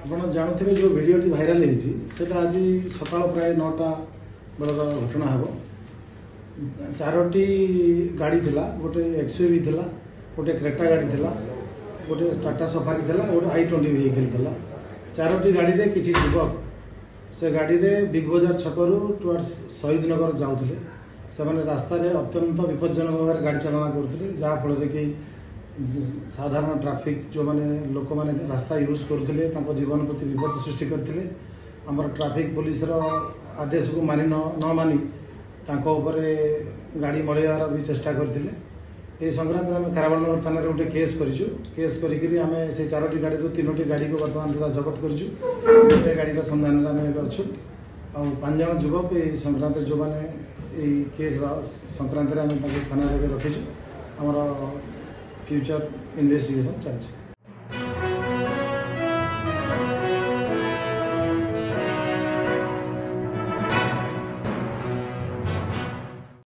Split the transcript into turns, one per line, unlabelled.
ଆପଣ ଜାଣୁଥିବେ, ଯେଉଁ ଭିଡ଼ିଓଟି ଭାଇରାଲ ହେଇଛି, ସେଇଟା ଆଜି ସକାଳ ପ୍ରାୟ 9ଟା ବେଳର ଘଟଣା ହେବ। 4ଟି ଗାଡ଼ି ଥିଲା। ଗୋଟେ ଏକ୍ସୟୁଭି ଥିଲା, ଗୋଟେ କ୍ରେଟା ଗାଡ଼ି ଥିଲା, ଗୋଟେ ଟାଟା ସଫାରି ଥିଲା, ଗୋଟେ i20 vehicle ଥିଲା। 4ଟି ଗାଡ଼ିରେ କିଛି ଯୁବକ ସେ ଗାଡ଼ିରେ ବିଗ୍ ବଜାର ଛକରୁ ଟୁୱାର୍ଡସ୍ ଶହୀଦ ନଗର ଯାଉଥିଲେ। ସେମାନେ ରାସ୍ତାରେ ଅତ୍ୟନ୍ତ ବିପଜ୍ଜନକ ଭାବରେ ଗାଡ଼ି ଚାଳନା କରୁଥିଲେ, ଯାହାଫଳରେ କି ସାଧାରଣ ଟ୍ରାଫିକ୍ ଯେଉଁମାନେ ଲୋକମାନେ ରାସ୍ତା ୟୁଜ୍ କରୁଥିଲେ, ତାଙ୍କ ଜୀବନ ପ୍ରତି ବିପଦ ସୃଷ୍ଟି କରିଥିଲେ। ଆମର ଟ୍ରାଫିକ୍ ପୋଲିସର ଆଦେଶକୁ ମାନି ନ ମାନି ତାଙ୍କ ଉପରେ ଗାଡ଼ି ମଡ଼େଇବାର ବି ଚେଷ୍ଟା କରିଥିଲେ। ଏହି ସଂକ୍ରାନ୍ତରେ ଆମେ ଖାରବେଳନଗର ଥାନାରେ ଗୋଟେ କେସ୍ କରିଛୁ। କେସ୍ କରିକିରି ଆମେ ସେଇ 4ଟି ଗାଡ଼ିରୁ 3ଟି ଗାଡ଼ିକୁ ବର୍ତ୍ତମାନ ସୁଦ୍ଧା ଜବତ କରିଛୁ। ଗୋଟେ ଗାଡ଼ିର ସନ୍ଧାନରେ ଆମେ ଏବେ ଅଛୁ। ଆଉ 5 ଜଣ ଯୁବକ ଏହି ସଂକ୍ରାନ୍ତରେ, ଯେଉଁମାନେ ଏଇ କେସ୍ ସଂକ୍ରାନ୍ତରେ, ଆମେ ତାଙ୍କୁ ଥାନାରେ ଏବେ ରଖିଛୁ। ଆମର ଫ୍ୟୁଚର ଇନଭେଷ୍ଟିଗେସନ ଚାଲିଛି।